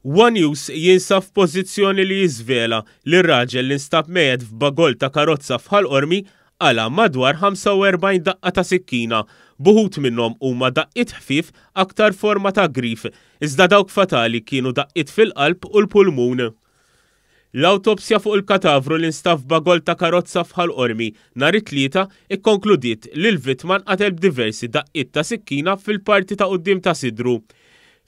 One News jinsab f'pożizzjoni li jiżvela li r-raġel li nstab mejjet f'bagoll ta' karozza f'Ħal Qormi qala' madwar 45 daqqa ta' sikkina, b'uħud minnhom huma daqqiet ħfief aktar forma ta' grif, iżda dawk fatali kienu daqqiet fil-qalb u l-pulmun. L-awtopsja fuq il-katavru li nstab f'bagoll ta' karozza f'Ħal Qormi nhar it-Tlieta kkonkludiet li l-vittma nqatel b'diversi daqqiet ta' sikkina fil-parti ta' quddiem ta' sidru.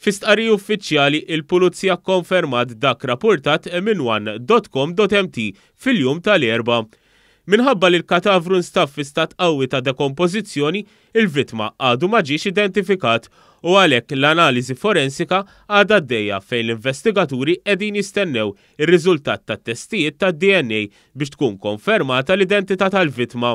Fi stqarrija uffiċjali, il-Pulizija kkonfermat dak rappurtat minn one dot com dot mt fil-jum tal-Erbgħa. Minħabba li l-katavru nstab fi stat qawwi ta' dekompożizzjoni, il-vittma għadu ma ġiex identifikat u għalhekk l-analiżi forensika għadha għaddejja fejn l-investigaturi qegħdin jistennew ir-riżultat tat-testijiet tad-DNA biex tkun konfermata l-identità tal-vittma.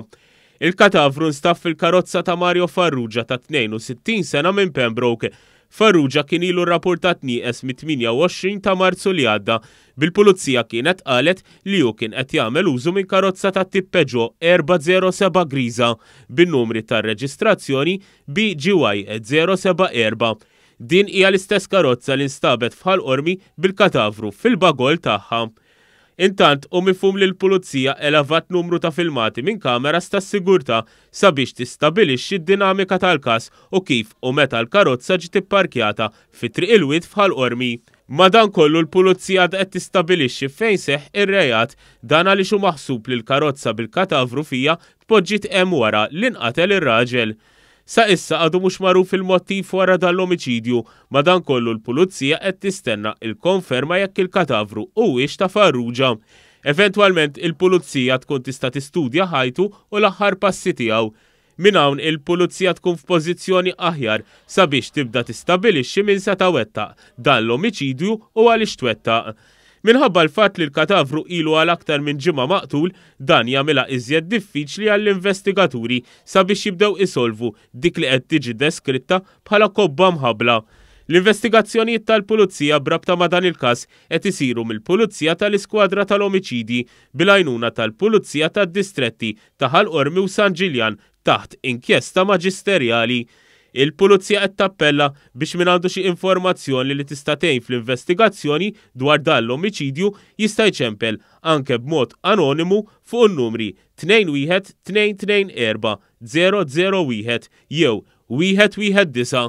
Il-katavru nstab fil-karozza ta' Mario Farrugia ta' 62 sena minn Pembroke. Farrugia kien ilu rrapurtat nieqes mit-28 ta' Marzu li għadda, bil-Pulizija kienet qalet li hu kien qed jagħmel użu minn karozza tat-tip Peugeot 407 griża bin-numri tar-reġistrazzjoni BGY 074. Din hija l-istess karozza li nstabet f'Ħal Qormi bil-katavru fil-bagoll tagħha. Intant, hu mifhum li l-Pulizija elevat numru ta' filmati minn kameras tas-sigurtà sabiex tistabilixxi d-dinamika tal-każ u kif u meta l-karozza ġiet ipparkjata fi Triq il-Wied f'Ħal Qormi. Madankollu l-Pulizija għadha qed tistabilixxi fejn seħħ ir-reat, dan għaliex hu maħsub li l-karozza bil-katavru fiha tpoġġiet hemm wara li nqatel ir-raġel. Sa issa għadu mhux magħruf il-mottiv wara dan l-omiċidju, madankollu l-Pulizija qed tistenna il-konferma jekk il-katavru huwiex ta' Farrugia. Eventwalment il-Pulizija tkun tista' tistudja ħajtu u l-aħħar passi tiegħu. Minn hawn il-Pulizija tkun f'pożizzjoni aħjar sabiex tibda tistabilixxi min seta' wettaq dan l-omiċidju u għaliex twettaq. Minħabba l-fatt li l-katavru ilu għal aktar minn ġimgħa maqtul, dan jagħmilha iżjed diffiċli għall-investigaturi sabiex jibdew isolvu dik li qed tiġi deskritta bħala kobba mħabbla. L-investigazzjonijiet tal-Pulizija b'rabta ma' dan il-każ qed isiru mill-Pulizija tal-Iskwadra tal-Omiċidji bil-għajnuna tal-Pulizija tad-Distretti ta' Ħal Qormi u San Ġiljan taħt inkjesta maġisterjali. Il-Pulizija qed tappella biex min għandu xi informazzjoni li tista' tgħin fl-investigazzjoni dwar dan l-omiċidju jista' jċempel anke b'mod anonimu fuq in-numri 2 1 2 2 4 0 0 1 jew 1 1 9.